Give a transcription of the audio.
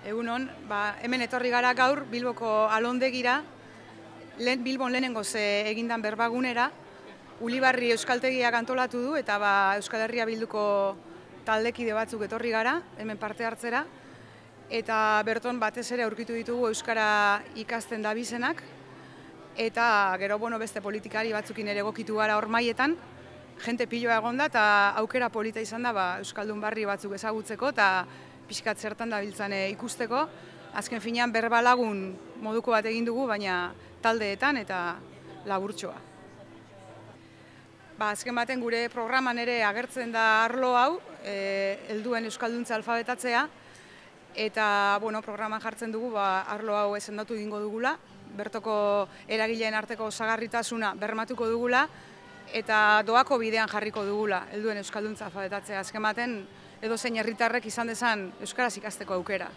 Egunon, hemen etorri gara gaur Bilboko Alondegira, Bilbon lehenengoz egindan berbagunera, Ulibarri Euskaltegiak antolatu du eta Euskal Herria Bilduko taldekide batzuk etorri gara, hemen parte hartzera, eta berton batez ere aurkitu ditugu Euskara ikasten dabizenak, eta gero beste politikari batzukin ere egokitu gara hor maietan, jente piloa egonda eta aukera polita izan da Euskaldun barri batzuk ezagutzeko eta pixkat zertan dabiltzan ikusteko. Azken finean berbalagun moduko bat egin dugu, baina taldeetan eta laburtxoa. Azken baten gure programan ere agertzen da arlo hau, helduen euskalduntza alfabetatzea, eta programan jartzen dugu arlo hau esendatu egingo dugula, bertoko eragileen arteko osagarritasuna bermatuko dugula, eta doako bidean jarriko dugula, helduen euskalduntza alfabetatzea. Azken baten, edozein herritarrek izan dezan euskaraz ikasteko aukera.